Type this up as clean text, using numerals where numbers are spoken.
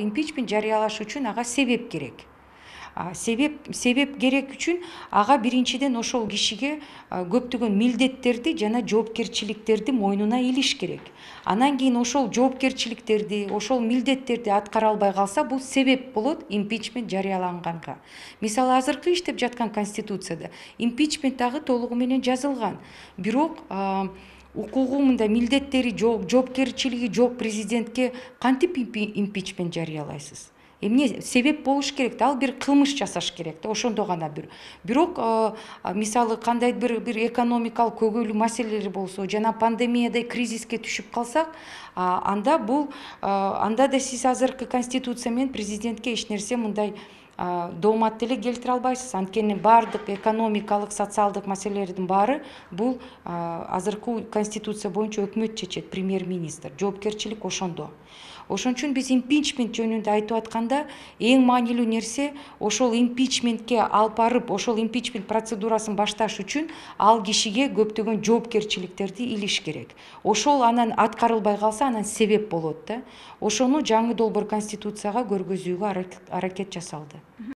импичмент жарыялаш үчүн ага себеп керек. Себеп керек үчүн ага биринчиден ошол кишиге көптөгөн милдеттерди жана жоопкерчиликтерди мойнуна илиш керек. Анан кийин ошол жоопкерчиликтерди, ошол милдеттерди аткара албай калса, бул себеп болот импичмент жарыяланганга. Мисалы, азыркы иштеп жаткан конституцияда импичмент дагы толугу менен жазылган. Бирок укугу мындай милдеттери жок, жоопкерчилиги жок президентке кантип импичмент жарыялайсыз? Эмне себеп болуш керек да, ал бир кылмыш жасаш керек да, ошондо гана бирок мисалы кандайдыр бир экономикалык көйгөйлүү маселелер болсо жана пандемиядай кризиске түшүп калсак, анда да сиз азыркы конституция менен президентке эч нерсе мындай доомат деле келтире албайсыз. Анткени баардык экономикалык, социалдык маселелердин баары бул азыркы конституция боюнча өкмөт чечет, премьер-министр. Жоопкерчилик ошондо. Ошон үчүн биз импичмент жөнүндө айтып атканда эң маанилүү нерсе ошол импичментке алып барып, ошол импичмент процедурасын башташ үчүн ал кишиге көптөгөн жоопкерчиликтерди илиш керек. Ошол анан аткарылбай калса, анан себеп болот да. Ошону жаңы долбоор конституцияга көргөзүүгө аракет жасалды.